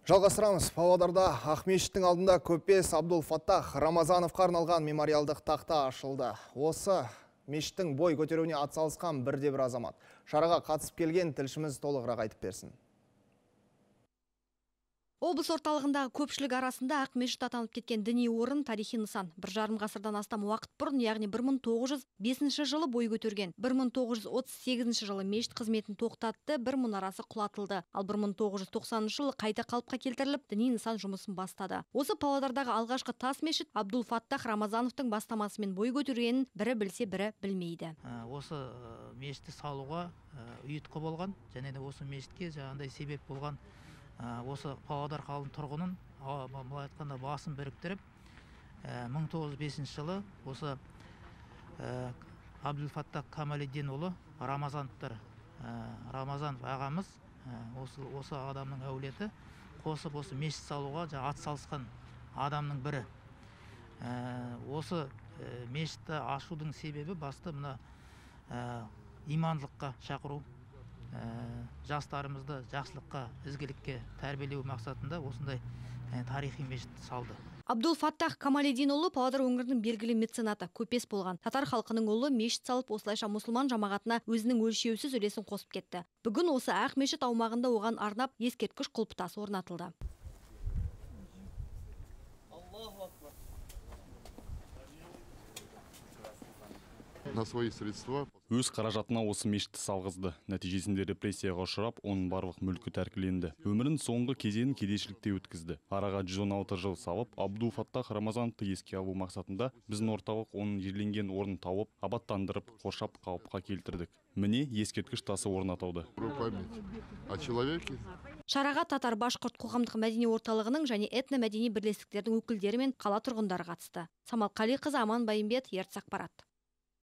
Жалғастырамыз. Павлодарда Ақмешіттің алдында Көпес Абдул-Фаттах Рамазановқа арналған мемориалдық тақта ашылды. Осы мешіттің бой көтеруіне атсалысқан бірде-бір азамат. Шараға қатысып келген тілшіміз толығырақ айтып берсін. Облыс орталығындағы көпшілік арасында Ақмешіт атанып кеткен діни орын тарихи нысан. 1,5 ғасырдан астам уақыт бұрын, яғни 1905 жылы бой көтерген. 1938 жылы мешіт қызметін тоқтатты, бір мұнарасы құлатылды. Ал 1990 жылы қайта қалыпқа келтіріліп, діни нысан жұмысын бастады. Осы Павлодардағы алғашқы тас мешіт Абдул-Фаттах Рамазановтың бастамасымен бой көтергенін бірі білсе, бірі білмейді. Осы мешітті салуға ұйытқы болған, және де осы мешітке жаңағыдай себеп болған осы Павлодар қалың тұрғынын былай айтқанда басын біріктіріп 1905 жылы осы Абдул-Фаттах Камалиддинұлы Рамазанов ағамыз осы адамның әулеті қосып осы мешіт салуға атсалысқан адамның бірі. Осы мешітті ашудың себебі басты мына имандылыққа шақыру, жастарымызды жақсылыққа, ізгілікке тәрбиелеу мақсатында осындай тарихи мешіт салды. Абдул-Фаттах Камалиддинұлы Павлодар өңірінің белгілі меценаты, көпес болған. Татар халқының ұлы мешіт салып, осылайша мұсылман жамағатына өзінің өлшеусіз үлесін қосып кетті. Бүгін осы ақ мешіт аумағында оған арнап ескерткіш құлпытасы орнатылды. На свои средства. Өз қаражатына осы мешітті салғызды. Нәтижесінде репрессияға ұшырап, оның барлық мүлкі тәркіленді. Өмірін соңғы кезеңін кедейшілікте өткізді. Араға 116 жыл салып, Абдул-Фаттах Рамазановты еске алу мақсатында біздің орталық оның жерленген орнын тауып, абаттандырып, қоршап қалыпқа келтірдік. Міне ескерткіш тасы орнатылды. Шараға татар башқұрт қоғамдық мәдени орталығының және этномәдени бірлестіктердің өкілдері мен қала тұрғындары қатысты. Самал Қалиқызы, Аман Байымбет, Ертіс ақпарат.